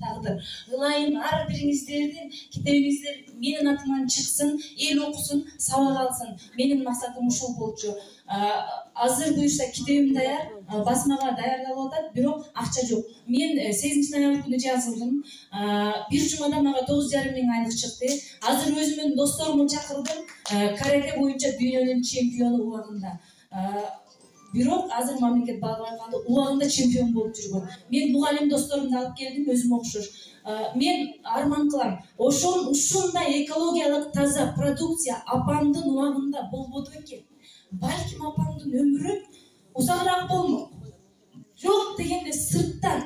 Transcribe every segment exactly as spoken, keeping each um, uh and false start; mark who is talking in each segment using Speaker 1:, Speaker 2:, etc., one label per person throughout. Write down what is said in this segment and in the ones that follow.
Speaker 1: тагдыр. Ылайым ар бириңиздердин китебиңиздер менин атыман чыксын, эл окусун, сабак алсын. Менин максатым ушул болчу. Азыр буюрса китебим даяр, басмага даярдалып атат, бирок акча жок. Мен сегизинчи ноябрь күнү жазылдым. Бир жумада мага тогуз жарым миң айлык чыкты. Азыр өзүмдүн досторумду чакырдым. Карате боюнча дүйнөнүн чемпиону убагында. Бирок азыр мамлекет багыбай калды, убагында чемпион болуп жүргөн. Мен мугалим досторумду алып келдим, өзүм окшош. Мен арман кылам, ошол ушундай экологиялык таза продукция апамдын убагында болбоду экен. Балким апамдын өмүрү узагыраак болмок. Жок дегенде сырттан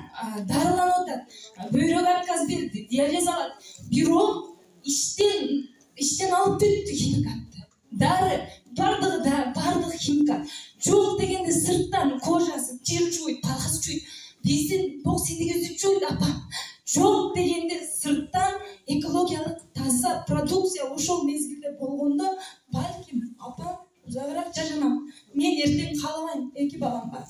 Speaker 1: дарыланып атат, бөйрөк отказ берди, диализ алат. Бирок иштен иштен алып кетти химикатты. Дары бардыгы да бардыгы химикат. Жок дегенде сырттан кожасы жер жуйт, палас жуйт. Биздин бок синдигибизди жуйт апам. Жок дегенде сырттан экологиялык таза продукция ошол мезгилде болгондо балким апам узагыраак жашанам. Мен эртең каалабайм, эки балам бар.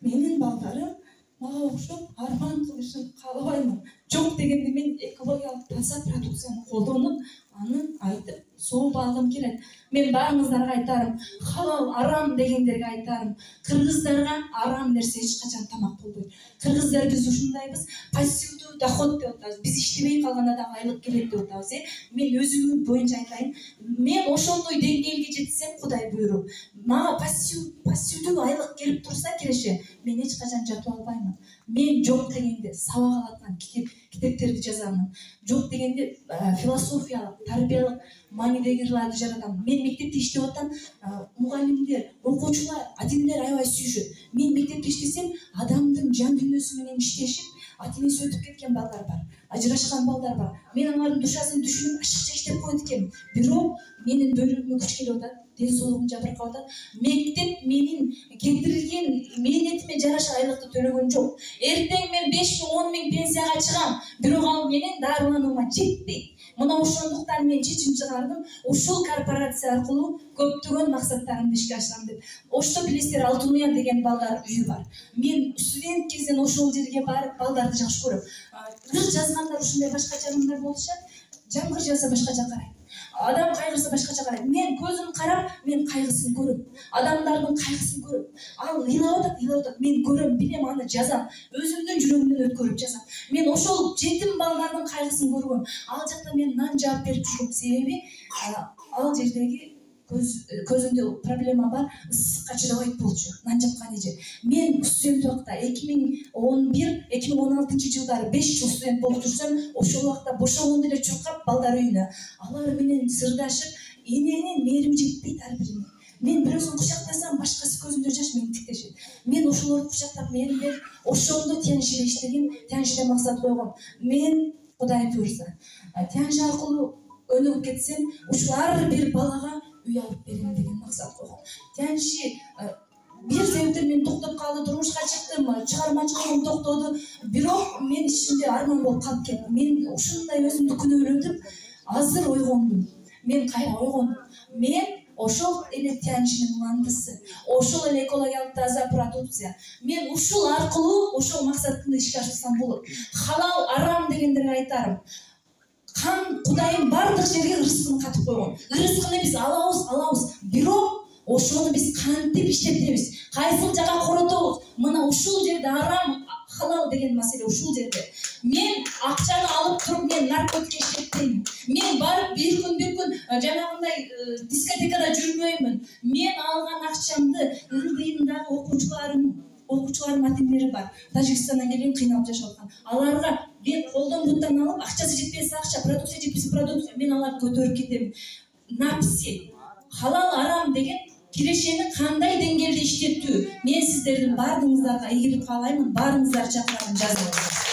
Speaker 1: Менин балдарым мага окшоп арман кылышын каалабаймын. Жок дегенде мен экологиялык таза продукцияны колдонуп, аны айтып сооп алгым келет. Мен баарыңыздарга айтарым, халал арам дегендерге айтарым, кыргыздарга арам нерсе эч качан тамак болбойт. Кыргыздар биз ушундайбыз, пассивдүү доход деп атабыз. Биз иштебей калганда да айлык келет деп атабыз, э. Мен өзүм боюнча айтайын, мен ошондой деңгээлге жетсем, Кудай буйруп, мага пассив пассивдүү айлык келип турса келеше, мен эч качан жатып албаймын. Мен жок дегенде сабак алаткан китеп китептерди жазамын. Жок дегенде философиялык, тарбиялык маанидеги ырларды жаратам. Мен мектепте иштеп атам, мугалимдер, окуучулар, адимдер аябай сүйүшөт. Мен мектепте иштесем, адамдын жан дүйнөсү менен иштешип, ата-энеси өтүп кеткен балдар бар, ажырашкан балдар бар. Мен алардын душасын түшүнүп, ашыкча иштеп коет экенмин. Бирок менин бөлүгүмө күч келип атат, ден соолугум жабыркап атат. Мектеп менин кетирилген мээнетиме жараша айлыкты төлөгөн жок. Эртең мен беш миң, он миң пенсияга чыгам, бирок ал менен дарыланууга жетпейт. Мына ошондуктан мен чечим чыгардым, ушул корпорация аркылуу көптөгөн максаттарымды ишке ашырам деп. Ошто билесиздер, Алтын Уя деген балдар үйү бар. Мен студент кезден ошол жерге барып, балдарды жакшы көрөм. Ыр жазгандар ушундай башкача ырымдар болушат, жамгыр жаса башкача карайт. Адам кайгырса башкача карайт. Мен көзүм карап, мен кайгысын көрөм. Адамдардын кайгысын көрөм. Ал ыйлап атат, ыйлап атат. Мен көрөм, билем, аны жазам. Өзүмдүн жүрөгүмдөн өткөрүп жазам. Мен ошол жетим балдардын кайгысын көргөм. Ал жакта мен нан жаап берип жүргөм. Себеби ал жердеги көз көзүндө проблема бар, ысыкка чыдабайт болчу. Нан жапкан эже. Мен студент убакта эки миң он бир эки миң он алтынчы жылдары беш жыл студент болуп жүрсөм, ошол убакта бошогондо эле чуркап балдар үйүнө. Алар менен сырдашып, эненин мээрими жетпейт ар бирине. Мен бирөөсүн кучактасам, башкасы көзүндө жаш мени тиктешет. Мен ошолорду кучактап, мээрим берип, ошондо Тяньшиде иштегем, Тяньшиде максат койгом. Мен Кудай буйрса, Тяньши аркылуу өнүгүп кетсем, ушул ар бир балага үй алып берем деген максат койгом. Тяньши бир себептен мен токтоп калды, турмушка чыктым, чыгармачылыгым токтоду. Бирок мен ичимде арман болуп калып кетти. Мен ушундай өзүмдү күнөөлөдүм. Азыр ойгондум. Мен кайра ойгондум. Мен ошол эле Тяньшинин мандысы, ошол эле экологиялык таза продукция. Мен ушул аркылуу ошол максатымды ишке ашырсам болот. Халал арам дегендерге айтарым. Кан Кудайым бардык жерге ырыскын катып койгон. Ырыскыны биз алабыз, алабыз. Бирок ошону биз кантип иштетебиз? Кайсыл жака коротобуз? Мына ушул жерде арам, халал деген маселе ушул жерде. Мен акчаны алып туруп, мен наркотик иштетпеймин. Мен барып бир күн бир күн жанагындай дискотекада жүрбөймүн. Мен алган акчамды ылдыйымдагы окуучуларым окуучулардын атимдери бар. Тажикстандан келген, кыйналып жашап аткан. Аларга мен колдон буттан алып, акчасы жетпесе акча, продукция жетпесе продукция, мен аларды көтөрүп кетем. Напси, халал арам деген кирешени кандай деңгээлде иштетүү? Мен сиздердин бардыгыңыздарга ийгилик каалаймын, баарыңыздарды чакырам, жазыңыз.